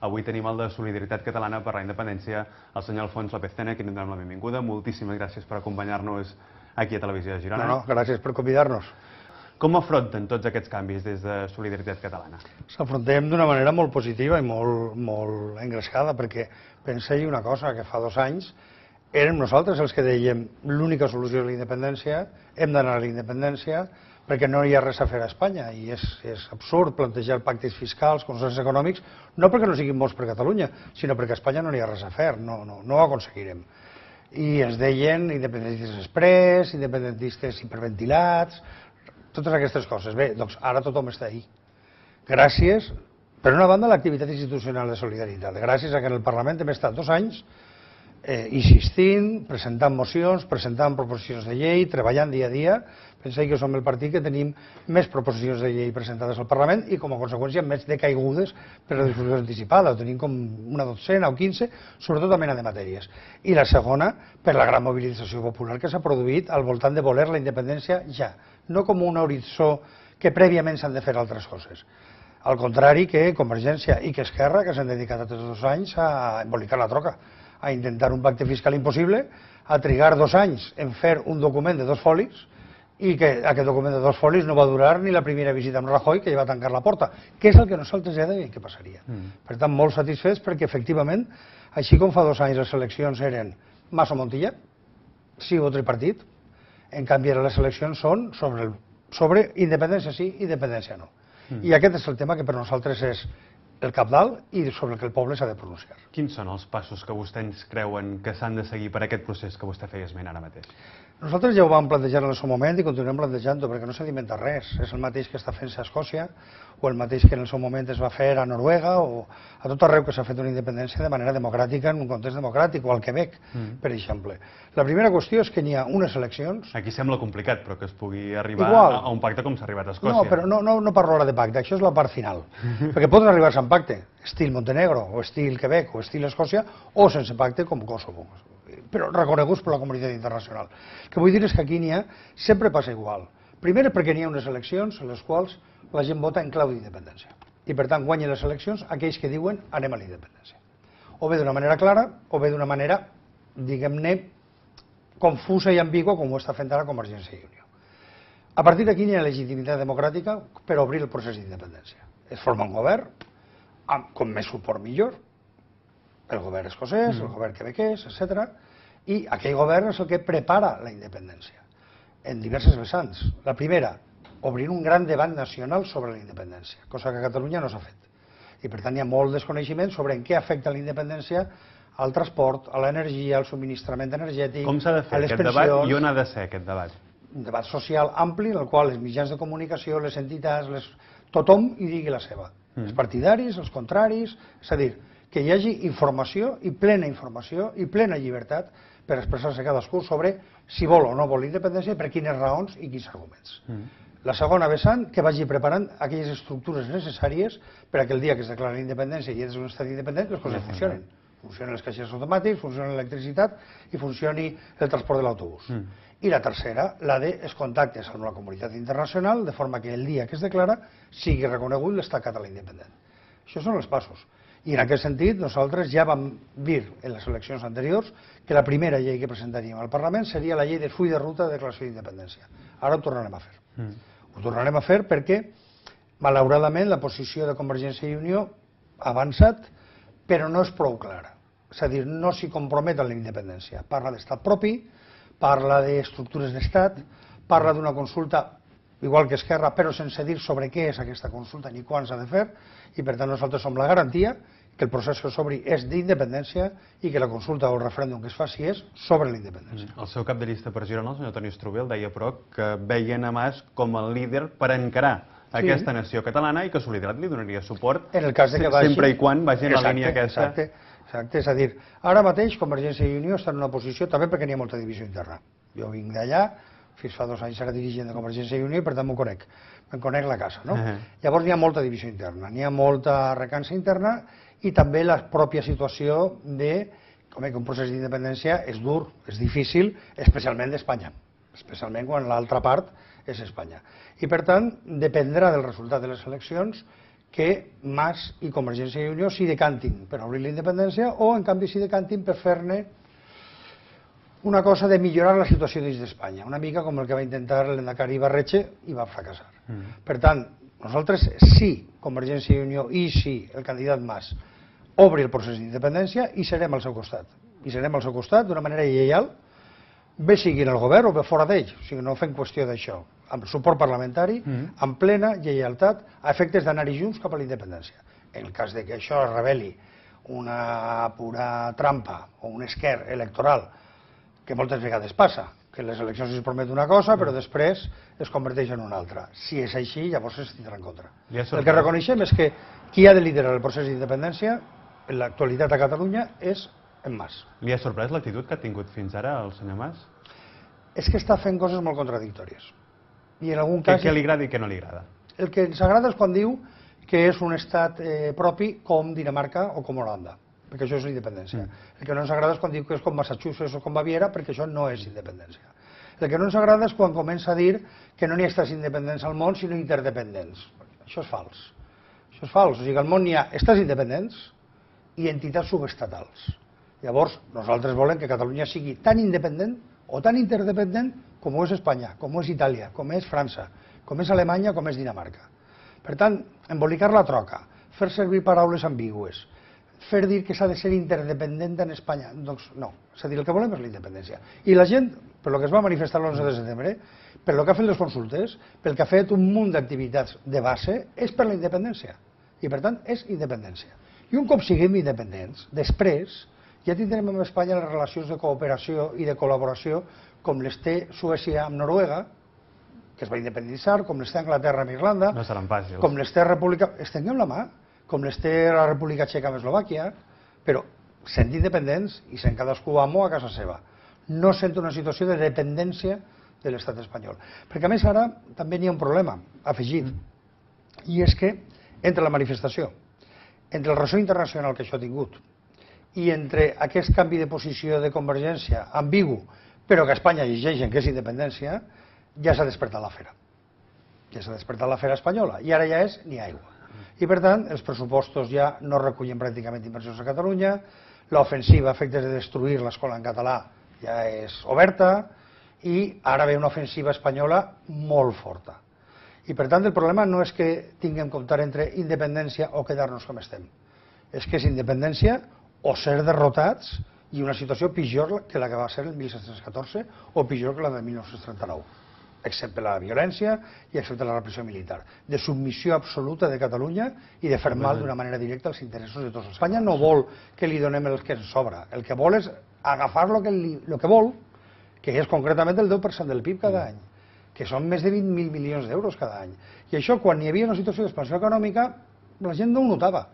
Avui tenim el de Solidaritat Catalana per la Independència, el senyor Alfons López-Tena, a qui donem la benvinguda. Moltíssimes gràcies per acompanyar-nos aquí a Televisió de Girona. No, gràcies per convidar-nos. Com afronten tots aquests canvis des de Solidaritat Catalana? S'afrontem d'una manera molt positiva i molt engrescada, perquè penseu una cosa, que fa 2 anys érem nosaltres els que dèiem l'única solució és la independència, hem d'anar a la independència perquè no hi ha res a fer a Espanya, i és absurd plantejar pactes fiscals, consensos econòmics, no perquè no siguin bons per Catalunya, sinó perquè a Espanya no hi ha res a fer, no ho aconseguirem. I ens deien independentistes express, independentistes hiperventilats, totes aquestes coses. Bé, doncs ara tothom està ahí. Gràcies, per una banda, a l'activitat institucional de solidaritat, gràcies a que en el Parlament hem estat 2 anys insistint, presentant mocions, presentant proposicions de llei, treballant dia a dia. Penseu que som el partit que tenim més proposicions de llei presentades al Parlament i, com a conseqüència, més decaigudes per la discussió anticipada. Ho tenim com una 12 o 15, sobretot a mena de matèries. I la segona, per la gran mobilització popular que s'ha produït al voltant de voler la independència ja, no com un horitzó que prèviament s'han de fer altres coses. Al contrari que Convergència i que Esquerra, que s'han dedicat aquests 2 anys a embolicar la troca, a intentar un pacte fiscal impossible, a trigar 2 anys en fer un document de 2 folis, i que aquest document de 2 folis no va durar ni la primera visita amb Rajoy, que ja va tancar la porta, que és el que nosaltres ja dèiem que passaria. Per tant, molt satisfets perquè, efectivament, així com fa 2 anys les eleccions eren Mas o Montilla, sí o tripartit, en canvi ara les eleccions són sobre independència sí, independència no. I aquest és el tema que per nosaltres és el cabdal i sobre el que el poble s'ha de pronunciar. Quins són els passos que vostès creuen que s'han de seguir per aquest procés que vostè feia esment ara mateix? Nosaltres ja ho vam plantejar en el seu moment i continuem plantejant-ho, perquè no s'ha d'inventar res. És el mateix que està fent-se a Escòcia, o el mateix que en el seu moment es va fer a Noruega, o a tot arreu que s'ha fet una independència de manera democràtica, en un context democràtic, o al Quebec, per exemple. La primera qüestió és que n'hi ha unes eleccions... Aquí sembla complicat, però que es pugui arribar a un pacte com s'ha arribat a Escòcia. No, però no parlo ara de pacte, això és la part final. Perquè poden arribar-se a un pacte, estil Montenegro, o estil Quebec, o estil Escòcia, o sense pacte com Kosovo, però reconeguts per la comunitat internacional. El que vull dir és que aquí n'hi ha, sempre passa igual. Primer perquè n'hi ha unes eleccions en les quals la gent vota en clau d'independència. I per tant guanyen les eleccions aquells que diuen anem a la independència. O bé d'una manera clara, o bé d'una manera, diguem-ne, confusa i ambigua, com ho està fent ara Convergència i Unió. A partir d'aquí n'hi ha legitimitat democràtica per obrir el procés d'independència. Es forma un govern, com més suport millor, el govern escocès, el govern quebequès, etc. I aquell govern és el que prepara la independència, en diverses vessants. La primera, obrir un gran debat nacional sobre la independència, cosa que a Catalunya no s'ha fet. I per tant hi ha molt desconeixement sobre en què afecta la independència al transport, a l'energia, al subministrament energètic, com s'ha de fer aquest debat i on ha de ser aquest debat? Un debat social ampli en el qual els mitjans de comunicació, les entitats, tothom hi digui la seva. Els partidaris, els contraris, és a dir, que hi hagi informació i plena llibertat per expressar-se cadascú sobre si vol o no vol independència, per quines raons i quins arguments. La segona vessant, que vagi preparant aquelles estructures necessàries per a que el dia que es declara la independència i és un estat independent, les coses funcionen. Funcionen els caixers automàtics, funciona l'electricitat i funcioni el transport de l'autobús. I la tercera, la dels contactes amb la comunitat internacional, de forma que el dia que es declara sigui reconegut l'estat català independent. Això són els passos. I en aquest sentit nosaltres ja vam dir en les eleccions anteriors que la primera llei que presentaríem al Parlament seria la llei de full de ruta de declaració d'independència. Ara ho tornarem a fer. Ho tornarem a fer perquè, malauradament, la posició de Convergència i Unió ha avançat, però no és prou clara. És a dir, no s'hi compromet a la independència. Parla d'estat propi, parla d'estructures d'estat, parla d'una consulta igual que Esquerra, però sense dir sobre què és aquesta consulta ni quan s'ha de fer, i per tant nosaltres som la garantia que el procés que s'obri és d'independència i que la consulta o el referèndum que es faci és sobre la independència. El seu cap de llista per Girona, el senyor Toni Strubell, deia però que veien a Mas com el líder per encarar aquesta nació catalana i que Solidaritat li donaria suport sempre i quan vagi en la línia aquesta. Exacte, és a dir, ara mateix Convergència i Unió està en una posició, també perquè n'hi ha molta divisió interna. Jo vinc d'allà, fins fa 2 anys era dirigent de Convergència i Unió i per tant m'ho conec. Me'n conec la casa, no? Llavors n'hi ha molta divisió interna, n'hi ha molta recança interna i també la pròpia situació de que un procés d'independència és dur, és difícil, especialment d'Espanya, especialment quan l'altra part és Espanya. I per tant dependrà del resultat de les eleccions que Mas i Convergència i Unió s'hi decantin per obrir la independència o, en canvi, s'hi decantin per fer-ne una cosa de millorar la situació dins d'Espanya, una mica com el que va intentar l'Endacari Ibarretxe i va fracassar. Per tant, nosaltres sí, Convergència i Unió, i sí, el candidat Mas, obri el procés d'independència i serem al seu costat. I serem al seu costat d'una manera lleial, bé sigui en el govern o bé fora d'ell, o sigui, no fem qüestió d'això, amb suport parlamentari, amb plena lleialtat, a efectes d'anar-hi junts cap a la independència. En el cas de que això es reveli una pura trampa o un esquer electoral, que moltes vegades passa, que les eleccions es promet una cosa però després es converteix en una altra. Si és així, llavors es tindrà en contra. El que reconeixem és que qui ha de liderar el procés d'independència en l'actualitat a Catalunya és en Mas. Li ha sorprès l'actitud que ha tingut fins ara el senyor Mas? És que està fent coses molt contradictòries. I en algun cas... Què li agrada i què no li agrada? El que ens agrada és quan diu que és un estat propi com Dinamarca o com Holanda, perquè això és independència. El que no ens agrada és quan diu que és com Massachusetts o com Baviera, perquè això no és independència. El que no ens agrada és quan comença a dir que no n'hi ha estats independents al món, sinó interdependents. Això és fals. Això és fals. O sigui, al món n'hi ha estats independents i entitats subestatals. Llavors, nosaltres volem que Catalunya sigui tan independent o tan interdependent com ho és Espanya, com ho és Itàlia, com és França, com és Alemanya, com és Dinamarca. Per tant, embolicar la troca, fer servir paraules ambigües, fer dir que s'ha de ser interdependent en Espanya, doncs no, és a dir, el que volem és la independència. I la gent, per lo que es va manifestar l'11 de setembre, per lo que ha fet les consultes, pel que ha fet un munt d'activitats de base, és per la independència. I per tant, és independència. I un cop siguem independents, després, ja tindrem amb Espanya les relacions de cooperació i de col·laboració com les té Suècia amb Noruega, que es va independitzar, com les té Anglaterra amb Irlanda, no seran fàcils, com les té República... Estenguem la mà, com les té la República Txeca amb Eslovàquia, però sent independents i sent cadascú amo a casa seva. No sent una situació de dependència de l'estat espanyol. Perquè a més ara també n'hi ha un problema afegit, i és que entre la manifestació, entre el ressò internacional que això ha tingut, i entre aquest canvi de posició de Convergència ambigu, però que a Espanya llegeixen que és independència, ja s'ha despertat l'afera. Ja s'ha despertat l'afera espanyola. I ara ja és ni aigua. I per tant, els pressupostos ja no recullen pràcticament inversions a Catalunya, l'ofensiva a efectes de destruir l'escola en català ja és oberta, i ara ve una ofensiva espanyola molt forta. I per tant, el problema no és que tinguem que optar entre independència o quedar-nos com estem. És que és independència o ser derrotats i una situació pitjor que la que va ser el 1714 o pitjor que la de 1939. Excepte la violència i excepte la repressió militar, de submissió absoluta de Catalunya i de fer mal d'una manera directa als interessos de tots. Espanya no vol que li donem el que ens sobra, el que vol és agafar el que vol, que és concretament el 10% del PIB cada any, que són més de 20.000 milions d'euros cada any. I això, quan hi havia una situació d'expansió econòmica, la gent no ho notava.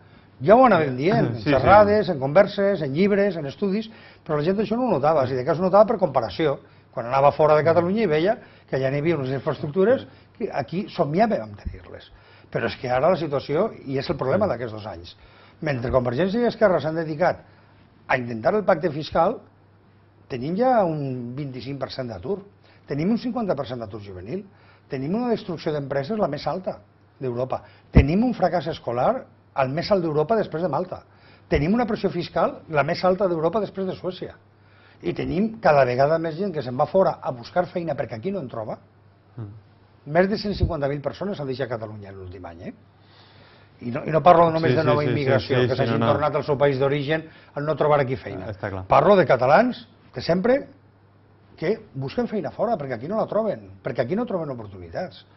Ja ho anàvem dient, en xerrades, en converses, en llibres, en estudis, però la gent això no ho notava, si de cas ho notava per comparació. Quan anava fora de Catalunya i veia que ja n'hi havia unes infraestructures que aquí somiàvem amb tenir-les. Però és que ara la situació, i és el problema d'aquests 2 anys, mentre Convergència i Esquerra s'han dedicat a intentar el pacte fiscal, tenim ja un 25% d'atur, tenim un 50% d'atur juvenil, tenim una destrucció d'empreses la més alta d'Europa, tenim un fracàs escolar el més alt d'Europa després de Malta, tenim una pressió fiscal la més alta d'Europa després de Suècia. I tenim cada vegada més gent que se'n va fora a buscar feina perquè aquí no en troba. Més de 150.000 persones han deixat Catalunya l'últim any. I no parlo només de nova immigració, que s'hagin tornat al seu país d'origen al no trobar aquí feina. Parlo de catalans que sempre que busquen feina fora perquè aquí no la troben, perquè aquí no troben oportunitats.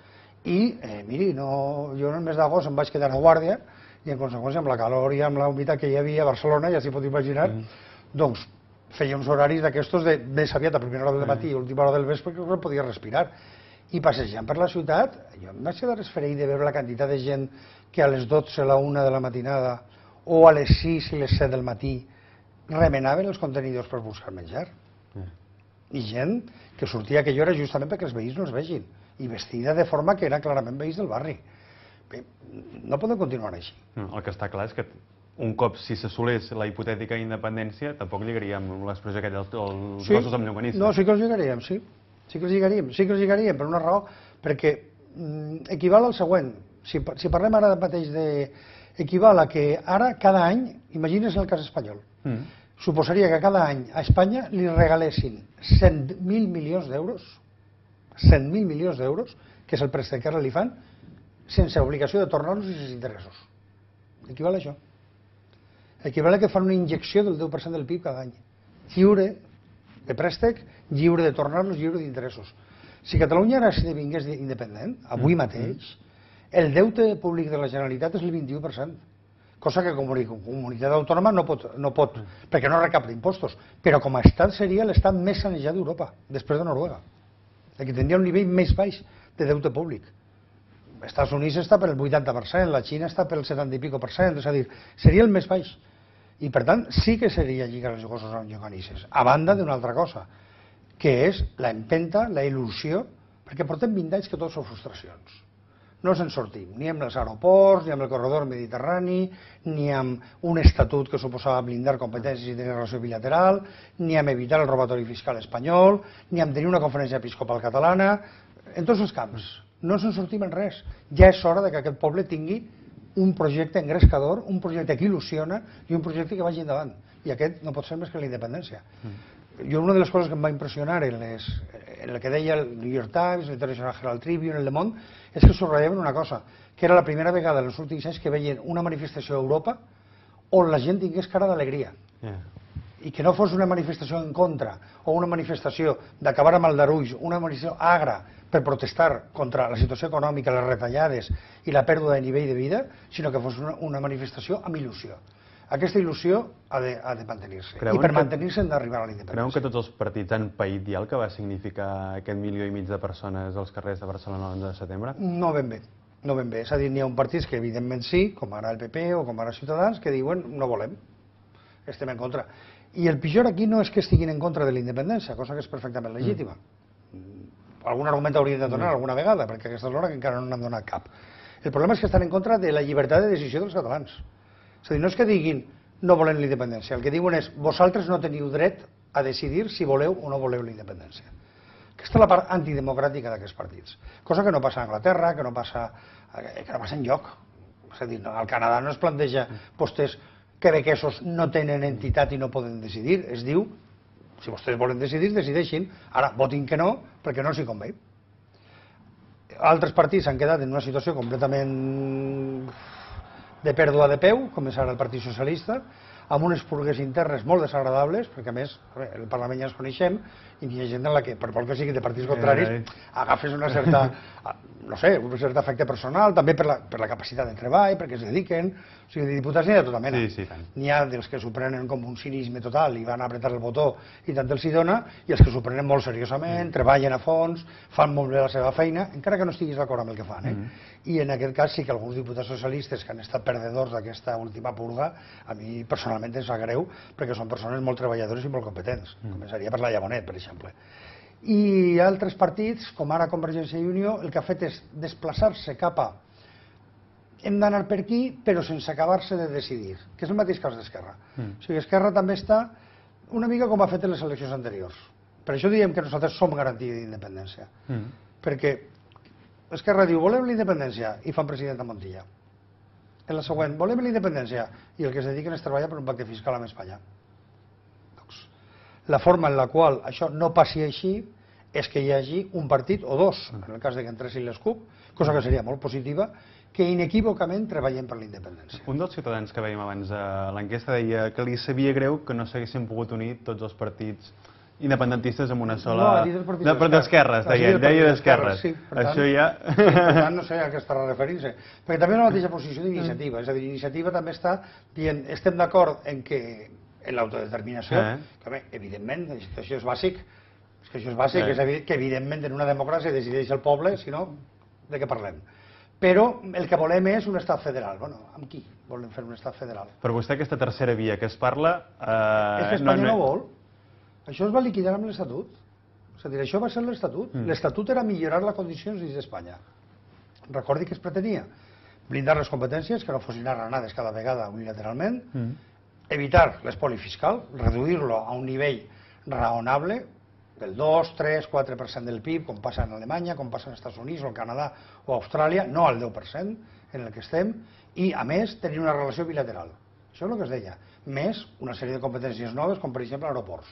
I, miri, jo en el mes d'agost em vaig quedar a Guàrdia i en conseqüència amb la calor i amb la humitat que hi havia a Barcelona, ja s'hi pot imaginar, doncs feia uns horaris d'aquestos de més aviat a primera hora del matí i última hora del vespre que no podia respirar. I passejant per la ciutat, jo em vaig quedar esfereït de veure la quantitat de gent que a les 12, a la 1 de la matinada o a les 6 i les 7 del matí remenaven els contenidors per buscar menjar. I gent que sortia a aquella hora justament perquè els veïns no els vegin i vestida de forma que eren clarament veïns del barri. Bé, no podem continuar així. El que està clar és que un cop si s'assolés la hipotètica independència, tampoc lligaríem l'expressió aquella dels gossos amb llonganissa. No, sí que els lligaríem, sí. Sí que els lligaríem per una raó, perquè equival al següent. Si parlem ara mateix equival a que ara, cada any, imagines en el cas espanyol, suposaria que cada any a Espanya li regalessin 100.000 milions d'euros, 100.000 milions d'euros, que és el préstec que ara li fan, sense obligació de tornar-los i sense interessos. Equival a això. Equival a que fan una injecció del 10% del PIB cada any. Lliure de préstec, lliure de tornar-los, lliure d'interessos. Si Catalunya ara esdevingués independent, avui mateix, el deute públic de la Generalitat és el 21%. Cosa que com a comunitat autònoma no pot, perquè no recapta impostos, però com a estat seria l'estat més sanejat d'Europa, després de Noruega, que tindria un nivell més baix de deute públic. Els Estats Units està per el 80%, la Xina està pel 70 i pico %, és a dir, seria el més baix. I per tant sí que seria lligar els gossos amb lloganisses, a banda d'una altra cosa, que és l'empenta, la il·lusió, perquè portem 20 anys que tot són frustracions. No se'n sortim, ni amb els aeroports, ni amb el corredor mediterrani, ni amb un estatut que suposava blindar competències i tenir relació bilateral, ni amb evitar el robatori fiscal espanyol, ni amb tenir una conferència episcopal catalana, en tots els camps. No se'n sortim en res. Ja és hora que aquest poble tingui un projecte engrescador, un projecte que il·lusiona i un projecte que vagi endavant. I aquest no pot ser més que la independència. Jo una de les coses que em va impressionar en el que deia el New York Times, l'International Herald Tribune, el Le Monde, és que subratllaven una cosa, que era la primera vegada en els últims anys que veien una manifestació a Europa on la gent tingués cara d'alegria. I que no fos una manifestació en contra o una manifestació d'acabar amb aldarulls, una manifestació agra per protestar contra la situació econòmica, les retallades i la pèrdua de nivell de vida, sinó que fos una manifestació amb il·lusió. Aquesta il·lusió ha de mantenir-se. I per mantenir-se hem d'arribar a la independència. Creuen que tots els partits han paït ja el que va significar aquest 1,5 milió de persones als carrers de Barcelona l'11 de setembre? No ben bé. No ben bé. És a dir, n'hi ha un partits que evidentment sí, com ara el PP o com ara Ciutadans, que diuen no volem, estem en contra. I el pitjor aquí no és que estiguin en contra de la independència, cosa que és perfectament legítima. Algun argument haurien de donar alguna vegada, perquè a aquesta hora que encara no n'han donat cap. El problema és que estan en contra de la llibertat de decisió dels catalans. És a dir, no és que diguin no volem la independència, el que diuen és vosaltres no teniu dret a decidir si voleu o no voleu la independència. Aquesta és la part antidemocràtica d'aquests partits. Cosa que no passa a Anglaterra, que no passa enlloc. És a dir, al Canadà no es planteja vostès quebequesos no tenen entitat i no poden decidir. Es diu, si vostès volen decidir, decideixin. Ara, votin que no, perquè no els hi convé. Altres partits han quedat en una situació completament de pèrdua de peu, com és ara el Partit Socialista, amb unes purgues internes molt desagradables, perquè a més el Parlament ja ens coneixem i hi ha gent en la que, per molt que sigui de partits contraris, agafes una certa, no sé, un cert afecte personal, també per la capacitat de treball, perquè es dediquen, o sigui, de diputats n'hi ha de tota mena. N'hi ha dels que s'ho prenen com un cinisme total i van a apretar el botó i tant els hi dona, i els que s'ho prenen molt seriosament, treballen a fons, fan molt bé la seva feina, encara que no estiguis d'acord amb el que fan. I en aquest cas sí que alguns diputats socialistes que han estat perdedors d'aquesta última purga, a mi personalment em sap greu, perquè són persones molt treballadores i molt competents. Començaria per la Llabonet, per exemple. I altres partits, com ara Convergència i Unió, el que ha fet és desplaçar-se cap a hem d'anar per aquí, però sense acabar-se de decidir, que és el mateix cas d'Esquerra. O sigui, Esquerra també està una mica com ha fet en les eleccions anteriors. Per això diem que nosaltres som garantia d'independència. Perquè Esquerra diu, volem la independència, i fan president a Montilla. En la següent, volem la independència, i el que es dediquen és treballar per un pacte fiscal amb Espanya. La forma en la qual això no passi així és que hi hagi un partit o dos, en el cas que entressin les CUP, cosa que seria molt positiva, que inequívocament treballem per la independència. Un dels ciutadans que veiem abans a l'enquesta deia que li sabia greu que no s'haguessin pogut unir tots els partits independentistes amb una sola... No, ha dit el partit d'esquerres, deia d'esquerres. Això ja... Per tant, no sé a què estarà referint-se. Perquè també és la mateixa posició d'Iniciativa. És a dir, Iniciativa també està dient, estem d'acord en que en l'autodeterminació, que evidentment, això és bàsic, és que evidentment en una democràcia decideix el poble, si no, de què parlem? Però el que volem és un estat federal. Bueno, amb qui volem fer un estat federal? Per vostè aquesta tercera via que es parla... És que Espanya no vol. Això es va liquidar amb l'Estatut. És a dir, això va ser l'Estatut. L'Estatut era millorar les condicions dins d'Espanya. Recordi que es pretenia blindar les competències, que no fossin arranades cada vegada unilateralment, evitar l'espoli fiscal, reduir-lo a un nivell raonable, pel 2, 3, 4% del PIB, com passa en Alemanya, com passa en Estats Units o el Canadà o Austràlia, no al 10% en el que estem, i a més tenir una relació bilateral. Això és el que es deia. Més una sèrie de competències noves, com per exemple aeroports.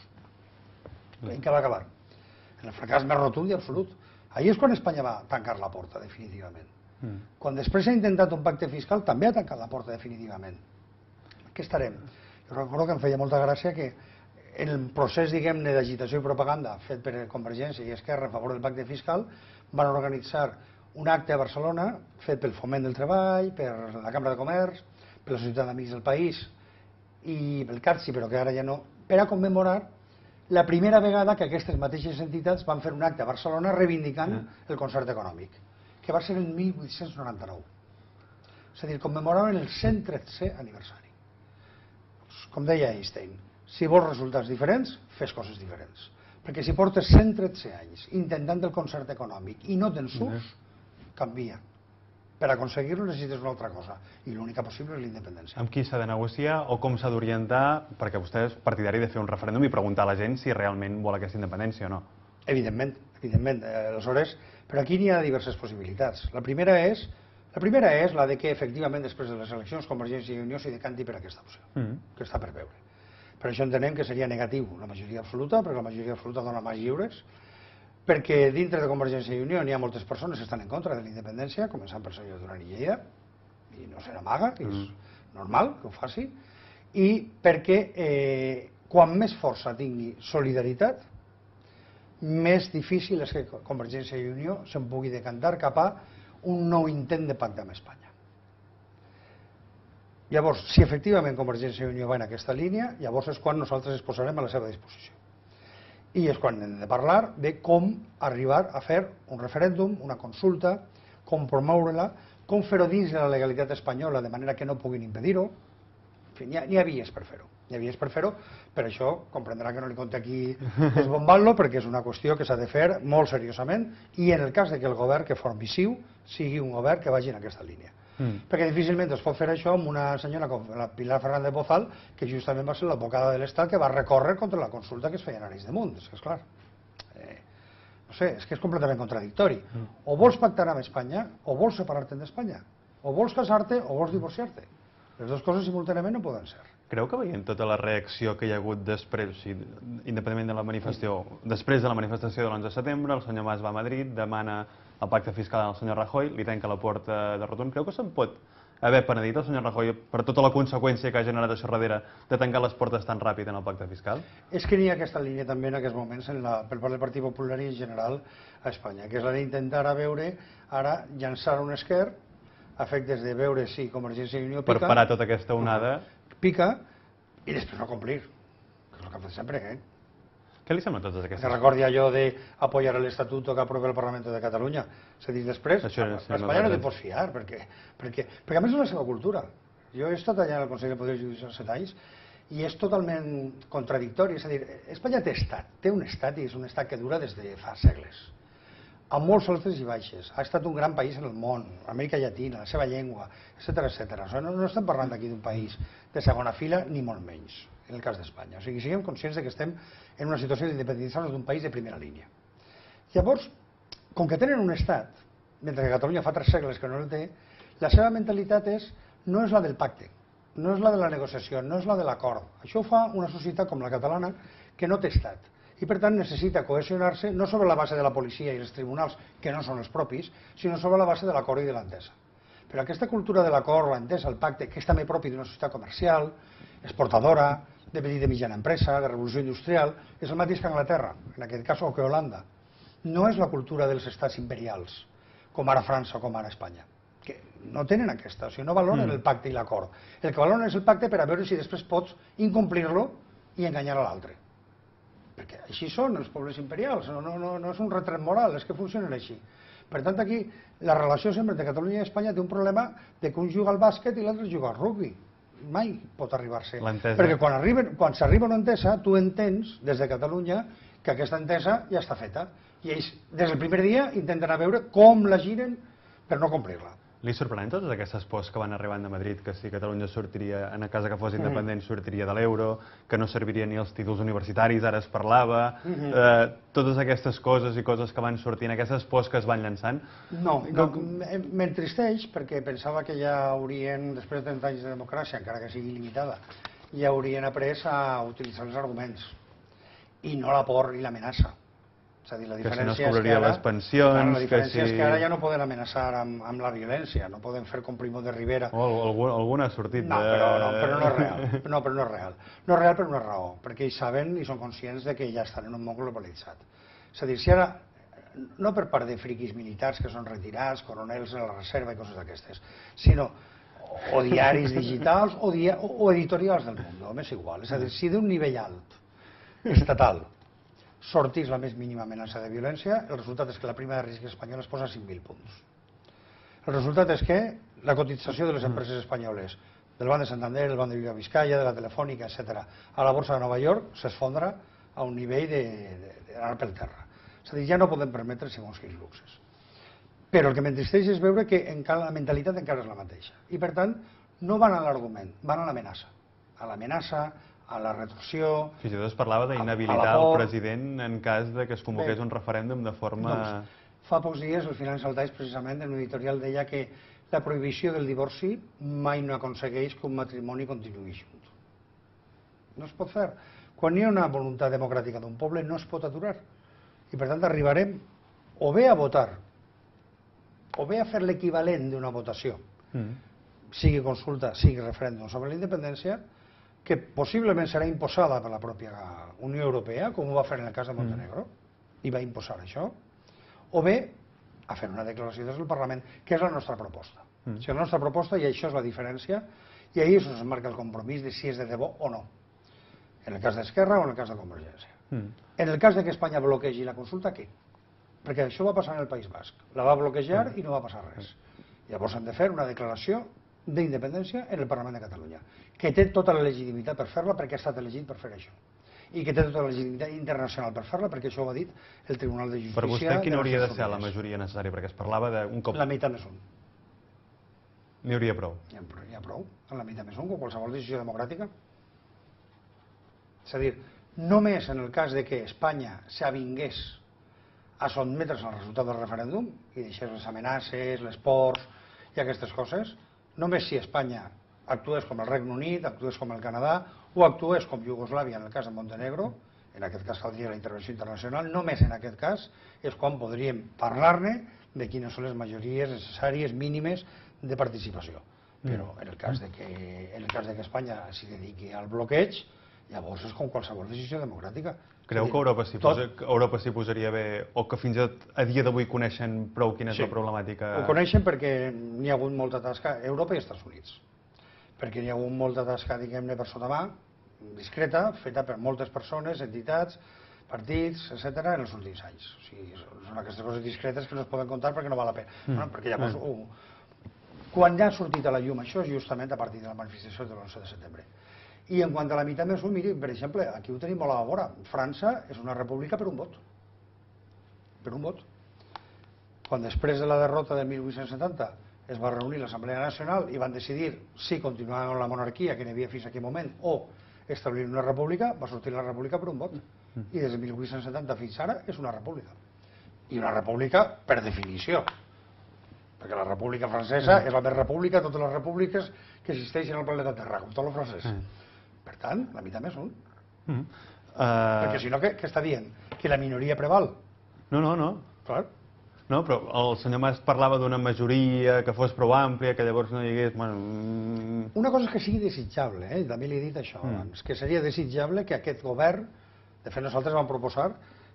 En què va acabar? En el fracàs més rotund i absolut. Ahir és quan Espanya va tancar la porta, definitivament. Quan després s'ha intentat un pacte fiscal, també ha tancat la porta definitivament. Aquí estarem. Jo recordo que em feia molta gràcia que en el procés, diguem-ne, d'agitació i propaganda fet per Convergència i Esquerra a favor del pacte fiscal, van organitzar un acte a Barcelona fet pel Foment del Treball, per la Cambra de Comerç, per la Societat d'Amics del País i pel CATSI, però que ara ja no, per a commemorar la primera vegada que aquestes mateixes entitats van fer un acte a Barcelona reivindicant el concert econòmic, que va ser el 1899. És a dir, commemoraven el 113è aniversari. Com deia Einstein, si vols resultats diferents, fes coses diferents. Perquè si portes 113 anys intentant el concert econòmic i no te'n surts, canvia. Per aconseguir-ho necessites una altra cosa, i l'única possible és la independència. Amb qui s'ha de negociar o com s'ha d'orientar, perquè vostè és partidari de fer un referèndum i preguntar a la gent si realment vol aquesta independència o no? Evidentment, evidentment. Aleshores, però aquí n'hi ha diverses possibilitats. La primera és la de que, efectivament, després de les eleccions, Convergència i Unió s'hi decanti per aquesta opció, que està per veure. Per això entenem que seria negatiu la majoria absoluta, perquè la majoria absoluta dona més lliures, perquè dintre de Convergència i Unió n'hi ha moltes persones que estan en contra de la independència, començant per el senyor Duran i Lleida, i no se n'amaga, que és normal que ho faci, i perquè quan més força tingui solidaritat, més difícil és que Convergència i Unió se'n pugui decantar cap a un nou intent de pacte amb Espanya. Llavors, si efectivament Convergència i Unió va en aquesta línia, llavors és quan nosaltres es posarem a la seva disposició. I és quan hem de parlar de com arribar a fer un referèndum, una consulta, com promoure-la, com fer-ho dins de la legalitat espanyola de manera que no puguin impedir-ho. En fi, n'hi ha vies per fer-ho. N'hi ha vies per fer-ho, per això comprendrà que no li conté aquí desbombant-lo, perquè és una qüestió que s'ha de fer molt seriosament i en el cas de que el govern que formi CiU sigui un govern que vagi en aquesta línia. Perquè difícilment es pot fer això amb una senyora com la Pilar Fernández Bozal, que justament va ser l'advocada de l'Estat que va recórrer contra la consulta que es feia en Arenys de Munt. És que, esclar, no sé, és que és completament contradictori. O vols pactar amb Espanya, o vols separar-te d'Espanya. O vols casar-te, o vols divorciar-te. Les dues coses simultàniament no poden ser. Creu que veient tota la reacció que hi ha hagut després, o sigui, independentment de la manifestació, després de la manifestació de l'11 de setembre, el senyor Mas va a Madrid, demana el pacte fiscal al senyor Rajoy, li tanca la porta de rotund. Creu que se'n pot haver penedit el senyor Rajoy per tota la conseqüència que ha generat això darrere de tancar les portes tan ràpid en el pacte fiscal? És que n'hi ha aquesta línia també en aquests moments per part del Partit Popular i en general a Espanya, que és la d'intentar a veure, ara llançar un esquer a efectes de veure si Convergència i Unió pica... Per parar tota aquesta onada... Pica i després no complir, que és el que ha fet sempre, Què li semblen totes aquestes? Que recordi allò d'apoyar l'Estatuto que aprova el Parlament de Catalunya. És a dir, després, Espanya no te pots fiar, perquè a més és la seva cultura. Jo he estat allà al Consell de Poder Judicial 7 anys i és totalment contradictori. És a dir, Espanya té estat, té un estat i és un estat que dura des de fa segles. Amb molts altres i baixes. Ha estat un gran país en el món, Amèrica Llatina, la seva llengua, etc. No estem parlant aquí d'un país de segona fila, ni molt menys, en el cas d'Espanya. O sigui, siguem conscients que estem en una situació d'independitzar-nos d'un país de primera línia. Llavors, com que tenen un estat, mentre que Catalunya fa 3 segles que no el té, la seva mentalitat no és la del pacte, no és la de la negociació, no és la de l'acord. Això ho fa una societat com la catalana que no té estat. I per tant necessita cohesionar-se no sobre la base de la policia i els tribunals, que no són els propis, sinó sobre la base de l'acord i de l'entesa. Però aquesta cultura de l'acord, l'entesa, el pacte, que és també propi d'una societat comercial, exportadora, de petita i mitjana empresa, de revolució industrial, és el mateix que Anglaterra, en aquest cas, o que Holanda. No és la cultura dels estats imperials, com ara França o com ara Espanya, que no tenen aquesta, o sigui, no valoren el pacte i l'acord. El que valoren és el pacte per a veure si després pots incomplir-lo i enganyar a l'altre. Perquè així són els pobles imperials, no és un retret moral, és que funcionen així. Per tant, aquí la relació sempre entre Catalunya i Espanya té un problema de que un juga al bàsquet i l'altre juga al rugbi. Mai pot arribar-se. Perquè quan s'arriba a una entesa, tu entens des de Catalunya que aquesta entesa ja està feta. I ells, des del primer dia, intenten a veure com la giren per no complir-la. Li sorprenen totes aquestes pors que van arribant de Madrid, que si Catalunya sortiria, en el cas que fos independent, sortiria de l'euro, que no serviria ni els títols universitaris, ara es parlava, totes aquestes coses i coses que van sortint, aquestes pors que es van llançant? No, m'entristeix perquè pensava que ja haurien, després de 30 anys de democràcia, encara que sigui limitada, ja haurien après a utilitzar els arguments i no la por i l'amenaça. És a dir, la diferència que si no es cobraria les pensions... La diferència és que ara ja no poden amenaçar amb la violència, no poden fer com Primo de Rivera. Algun ha sortit de... No, però no és real. No, però no és real. No és real per una raó, perquè ells saben i són conscients de que ja estan en un món globalitzat. És a dir, si ara, no per part de friquis militars que són retirats, coronels de la reserva i coses d'aquestes, sinó o diaris digitals o editorials del món, m'és igual. És a dir, si d'un nivell alt, estatal, sortís la més mínima amenaça de violència, el resultat és que la prima de risc espanyola es posa a 5.000 punts. El resultat és que la cotització de les empreses espanyoles, del Banc de Santander, del Banc de Vizcaya, de la Telefònica, etc., a la borsa de Nova York s'esfondra a un nivell d'anar pel terra. És a dir, ja no podem permetre segons quins luxes. Però el que m'entristeix és veure que la mentalitat encara és la mateixa. I per tant, no van a l'argument, van a l'amenaça. A l'amenaça, a la retorsió... Fins i tot es parlava d'inhabilitar el president en cas de que es convoqués un referèndum de forma... Fa pocs dies el Financial Times, precisament, en un editorial deia que la prohibició del divorci mai no aconsegueix que un matrimoni continuï junt. No es pot fer. Quan hi ha una voluntat democràtica d'un poble no es pot aturar. I per tant arribarem o bé a votar o bé a fer l'equivalent d'una votació, sigui consulta, sigui referèndum sobre la independència, que possiblement serà imposada per la pròpia Unió Europea, com ho va fer en el cas de Montenegro, i va imposar això, o bé a fer una declaració des del Parlament, que és la nostra proposta. O sigui, la nostra proposta, i això és la diferència, i ahir es marca el compromís de si és de debò o no, en el cas d'Esquerra o en el cas de Convergència. En el cas de que Espanya bloquegi la consulta, què? Perquè això va passar en el País Basc. La va bloquejar i no va passar res. Llavors hem de fer una declaració d'independència en el Parlament de Catalunya, que té tota la legitimitat per fer-la perquè ha estat elegit per fer això, i que té tota la legitimitat internacional per fer-la perquè això ho ha dit el Tribunal de Justícia. Per vostè, quina hauria de ser la majoria necessària? Perquè es parlava d'un cop... La meitat més un. N'hi hauria prou? Hi ha prou, en la meitat més un, com qualsevol decisió democràtica. És a dir, només en el cas de que Espanya s'avingués a sotmetre's al resultat del referèndum i deixés les amenaces, les pors i aquestes coses, només si Espanya actués com el Regne Unit, actués com el Canadà o actués com Iugoslàvia en el cas de Montenegro, en aquest cas caldria la intervenció internacional, només en aquest cas és quan podríem parlar-ne de quines són les majories necessàries mínimes de participació. Però en el cas de que Espanya s'hi dediqui al bloqueig, llavors és com qualsevol decisió democràtica. Creu que Europa s'hi posaria bé, o que fins a dia d'avui coneixen prou quina és la problemàtica? Ho coneixen perquè n'hi ha hagut molta tasca, Europa i Estats Units, perquè n'hi ha hagut molta tasca, diguem-ne, per sota mà, discreta, feta per moltes persones, entitats, partits, etc., en els últims anys. O sigui, són aquestes coses discretes que no es poden contar perquè no val la pena. Perquè llavors, quan ja ha sortit a la llum això, és justament a partir de la manifestació de l'11 de setembre. I en quant a la meitat més un, miri, per exemple, aquí ho tenim molt a la vora. França és una república per un vot. Per un vot. Quan després de la derrota de 1870 es va reunir l'Assemblea Nacional i van decidir si continuar amb la monarquia que n'hi havia fins a aquell moment o establir una república, va sortir la república per un vot. I des de 1870 fins ara és una república. I una república per definició. Perquè la república francesa és la més república de totes les repúbliques que existeixen al planeta Terra, com tot el francès. Per tant, la meitat més un. Perquè si no, què està dient? Que la minoria preval? No. Clar. No, però el senyor Mas parlava d'una majoria que fos prou àmplia, que llavors no hi hagués... Una cosa és que sigui desitjable, també li he dit això abans, que seria desitjable que aquest govern, de fet nosaltres vam proposar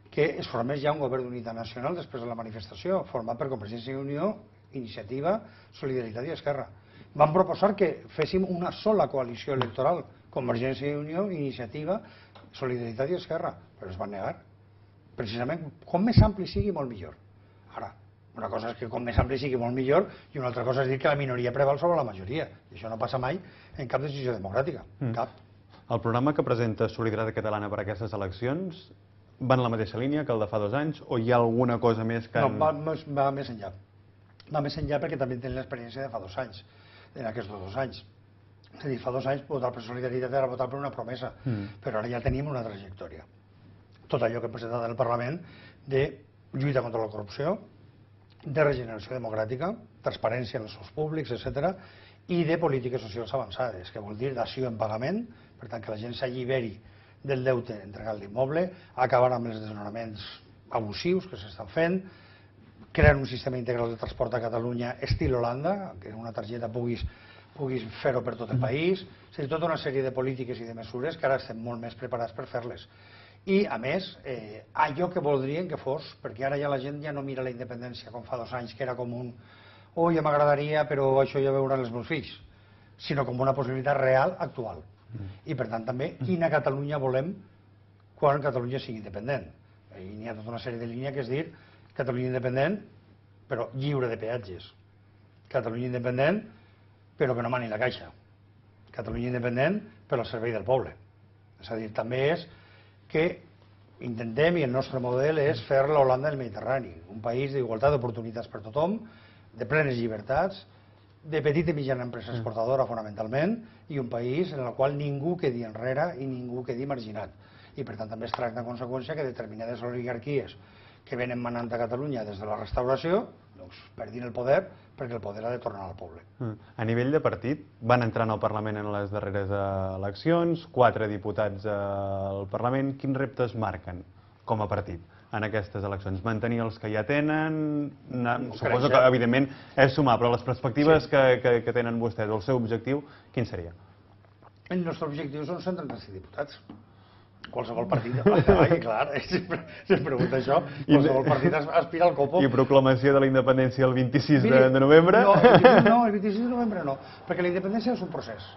que es formés ja un govern d'unitat nacional després de la manifestació, format per Convergència i Unió, Iniciativa, Solidaritat i Esquerra. Vam proposar que féssim una sola coalició electoral, Convergència i Unió, Iniciativa, Solidaritat i Esquerra, però es van negar. Precisament, com més ampli sigui, molt millor. Ara, una cosa és que com més ampli sigui, molt millor, i una altra cosa és dir que la minoria preval sobre la majoria. I això no passa mai en cap decisió democràtica. Cap. El programa que presenta Solidaritat Catalana per a aquestes eleccions va en la mateixa línia que el de fa 2 anys, o hi ha alguna cosa més que... No, va més enllà. va més enllà perquè també tenen l'experiència de fa 2 anys, en aquests 2 anys. És a dir, fa 2 anys votar per solidaritat era votar per una promesa, però ara ja tenim una trajectòria. Tot allò que hem presentat en el Parlament de lluita contra la corrupció, de regeneració democràtica, transparència en els sous públics, etc., i de polítiques socials avançades, que vol dir dació en pagament, per tant que la gent s'alliberi del deute entregat l'immoble, acabar amb els desnonaments abusius que s'estan fent, crear un sistema integral de transport a Catalunya estil Holanda, que una targeta puguis fer-ho per tot el país, és a dir, tota una sèrie de polítiques i de mesures que ara estem molt més preparats per fer-les. I, a més, allò que voldrien que fos, perquè ara ja la gent ja no mira la independència com fa 2 anys, que era com un «oh, ja m'agradaria, però això ja veuran els meus fills», sinó com una possibilitat real, actual. I, per tant, també, quina Catalunya volem quan Catalunya sigui independent. I n'hi ha tota una sèrie de línies que és dir Catalunya independent, però lliure de peatges. Catalunya independent, però que no mani la caixa. Catalunya independent, però al servei del poble. És a dir, també és que intentem, i el nostre model és fer l'Holanda del Mediterrani, un país d'igualtat d'oportunitats per tothom, de plenes llibertats, de petita i mitjana empresa exportadora fonamentalment, i un país en el qual ningú quedi enrere i ningú quedi marginat. I per tant també es tracta en conseqüència que determinades oligarquies que venen manant a Catalunya des de la restauració doncs perdin el poder, perquè el poder ha de tornar al poble. A nivell de partit, van entrar al Parlament en les darreres eleccions, 4 diputats al Parlament. Quins reptes marquen com a partit en aquestes eleccions? Mantenir els que ja tenen? Suposo que, evidentment, és sumar, però les perspectives que tenen vostès, el seu objectiu, quin seria? El nostre objectiu són 135 diputats. Qualsevol partit, clar, sempre pregunta això, qualsevol partit aspira al copo. I proclamació de la independència el 26 de novembre? No, el 26 de novembre no, perquè la independència és un procés.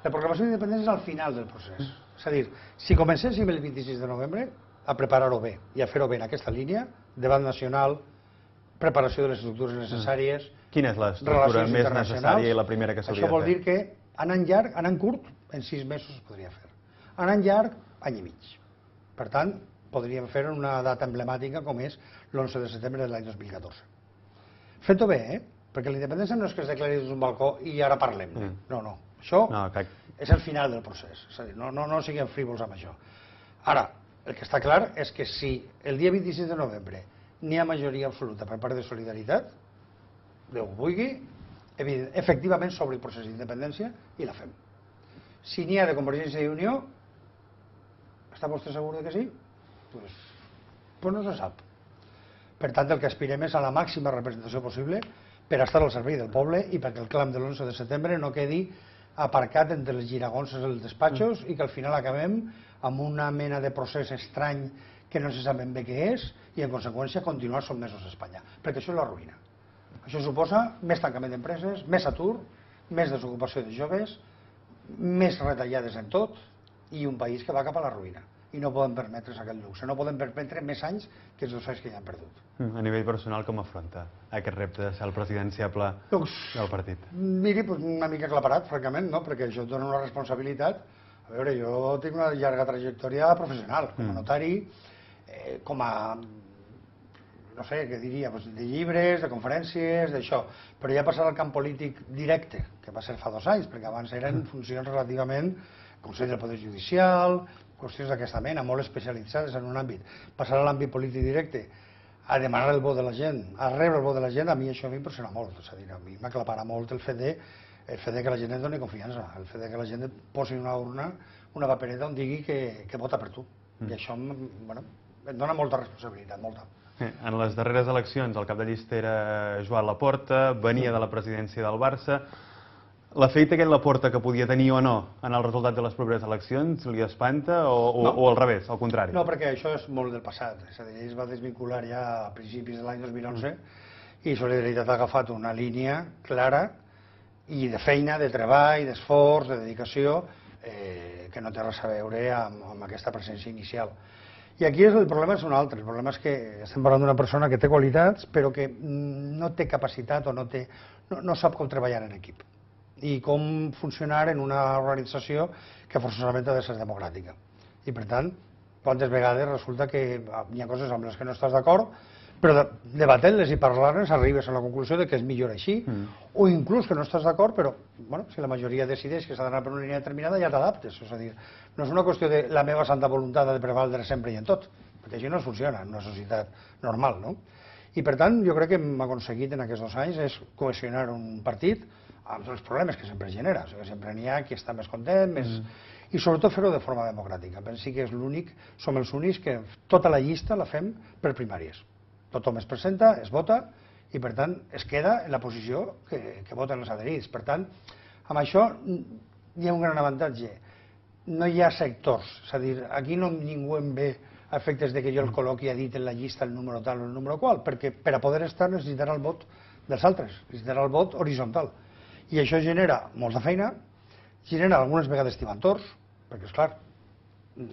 La proclamació d'independència és al final del procés. És a dir, si comencéssim el 26 de novembre a preparar-ho bé i a fer-ho bé en aquesta línia, debat nacional, preparació de les estructures necessàries, quina és l'estructura més necessària i la primera que s'hauria de fer? Això vol dir que anant llarg, anant curt, en 6 mesos es podria fer. Anant llarg, any i mig. Per tant, podríem fer una data emblemàtica com és l'11 de setembre de l'any 2014. Fent-ho bé, perquè la independència no és que es declari des d'un balcó i ara parlem. No. Això és el final del procés. És a dir, no siguem frívols amb això. Ara, el que està clar és que si el dia 26 de novembre n'hi ha majoria absoluta per part de Solidaritat, Déu ho vulgui, efectivament s'obre el procés d'independència i la fem. Si n'hi ha de Convergència i Unió, està vostè segur que sí? Doncs no se sap. Per tant, el que aspirem és a la màxima representació possible per estar al servei del poble i perquè el clam de l'11 de setembre no quedi aparcat entre els giragonses dels despatxos i que al final acabem amb una mena de procés estrany que no se sap ben bé què és i en conseqüència continuar sotmesos a Espanya, perquè això és la ruïna. Això suposa més tancament d'empreses, més atur, més desocupació de joves, més retallades en tot i un país que va cap a la ruïna. I no podem permetre's aquest luxe, no podem permetre més anys que els 2 anys que ja han perdut. A nivell personal, com afronta aquest repte de ser el presidenciable del partit? Miri, una mica aclaparat, francament, perquè això et dona una responsabilitat. A veure, jo tinc una llarga trajectòria professional, com a notari, com a, no sé, què diria, de llibres, de conferències, d'això. Però ja passar al camp polític directe, que va ser fa 2 anys, perquè abans eren funcions relativament Consell del Poder Judicial, qüestions d'aquesta mena, molt especialitzades en un àmbit. Passar a l'àmbit polític directe, a demanar el vot de la gent, a rebre el vot de la gent, a mi això m'impressiona molt. És a dir, a mi m'aclaparà molt el fet de que la gent et doni confiança, el fet de que la gent et posi en una urna una papereta on digui que vota per tu. I això em dona molta responsabilitat, molta. En les darreres eleccions el cap de llista era Joan Laporta, venia de la presidència del Barça. L'efecte aquest Laporta que podia tenir o no en el resultat de les properes eleccions li espanta o al revés, al contrari? No, perquè això és molt del passat. És a dir, ell es va desvincular ja a principis de l'any 2011 i Solidaritat ha agafat una línia clara i de feina, de treball, d'esforç, de dedicació, que no té res a veure amb aquesta presència inicial. I aquí el problema és un altre. El problema és que estem parlant d'una persona que té qualitats però que no té capacitat o no sap com treballar en equip i com funcionar en una organització que forçosament ha de ser democràtica. I per tant, quantes vegades resulta que hi ha coses amb les que no estàs d'acord, però debatent-les i parlant-les arribes a la conclusió de que és millor així, o inclús que no estàs d'acord, però si la majoria decideix que s'ha d'anar per una línia determinada, ja t'adaptes. És a dir, no és una qüestió de la meva santa voluntat de prevaldre sempre i en tot, perquè això no funciona en una societat normal, no? I per tant, jo crec que hem aconseguit en aquests 2 anys és cohesionar un partit amb els problemes que sempre genera. O sigui, sempre n'hi ha qui està més content, i sobretot fer-ho de forma democràtica. Pensi que és l'únic, som els únics que tota la llista la fem per primàries. Tothom es presenta, es vota i per tant es queda en la posició que voten els adherits. Per tant, amb això hi ha un gran avantatge. No hi ha sectors, és a dir, aquí ningú em ve a efectes de que jo el col·loqui a dit en la llista el número tal o el número qual, perquè per a poder estar necessitarà el vot dels altres, necessitarà el vot horitzontal. I això genera molta feina, genera algunes vegades tibantors, perquè és clar,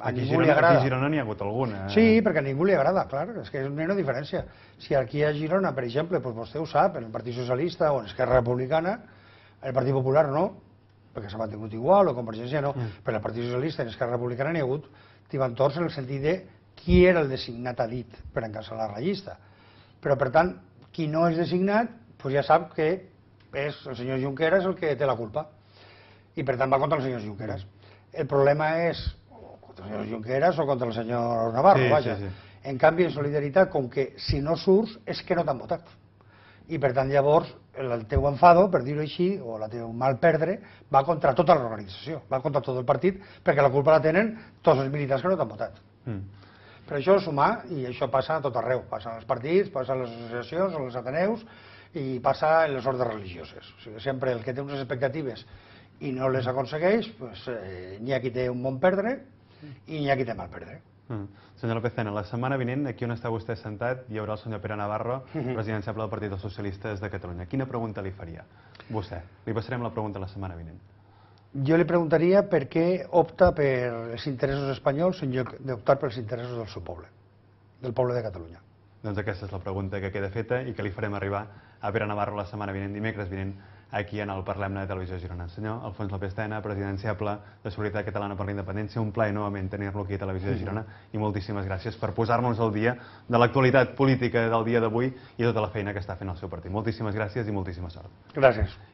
a ningú li agrada. Aquí a Girona n'hi ha hagut alguna. Sí, perquè a ningú li agrada, clar, és que és una diferència. Si aquí a Girona, per exemple, vostè ho sap, en el Partit Socialista o en Esquerra Republicana, el Partit Popular no, perquè s'ha mantingut igual, o Convergència no, però el Partit Socialista i en Esquerra Republicana n'hi ha hagut tibantors en el sentit de qui era el designat a dit per encapçalar la llista. Però, per tant, qui no és designat, ja sap que és el senyor Junqueras el que té la culpa. I, per tant, va contra el senyor Junqueras. El problema és contra el senyor Junqueras o contra el senyor Navarro, vaja. En canvi, en solidaritat, com que si no surts és que no t'han votat. I, per tant, llavors, el teu enfado, per dir-ho així, o el teu mal perdre, va contra tota l'organització, va contra tot el partit, perquè la culpa la tenen tots els militants que no t'han votat. Per això és humà, i això passa a tot arreu. Passa als partits, passa a les associacions, a els ateneus, i passa en les ordres religioses. O sigui, sempre el que té unes expectatives i no les aconsegueix, n'hi ha qui té un bon perdre i n'hi ha qui té mal perdre. Senyor López Tena, la setmana vinent, aquí on està vostè sentat, hi haurà el senyor Pere Navarro, presidenciable del Partit dels Socialistes de Catalunya. Quina pregunta li faria? Vostè. Li passarem la pregunta la setmana vinent. Jo li preguntaria per què opta per els interessos espanyols en lloc d'optar pels interessos del seu poble, del poble de Catalunya. Doncs aquesta és la pregunta que queda feta i que li farem arribar a Pere Navarro la setmana vinent, dimecres vinent, aquí en el Parlem-ne de Televisió Girona. Senyor Alfons López Tena, presidenciable de Solidaritat Catalana per la Independència, un plaer novament tenir-lo aquí a Televisió Girona i moltíssimes gràcies per posar-nos al dia de l'actualitat política del dia d'avui i tota la feina que està fent el seu partit. Moltíssimes gràcies i moltíssima sort. Gràcies.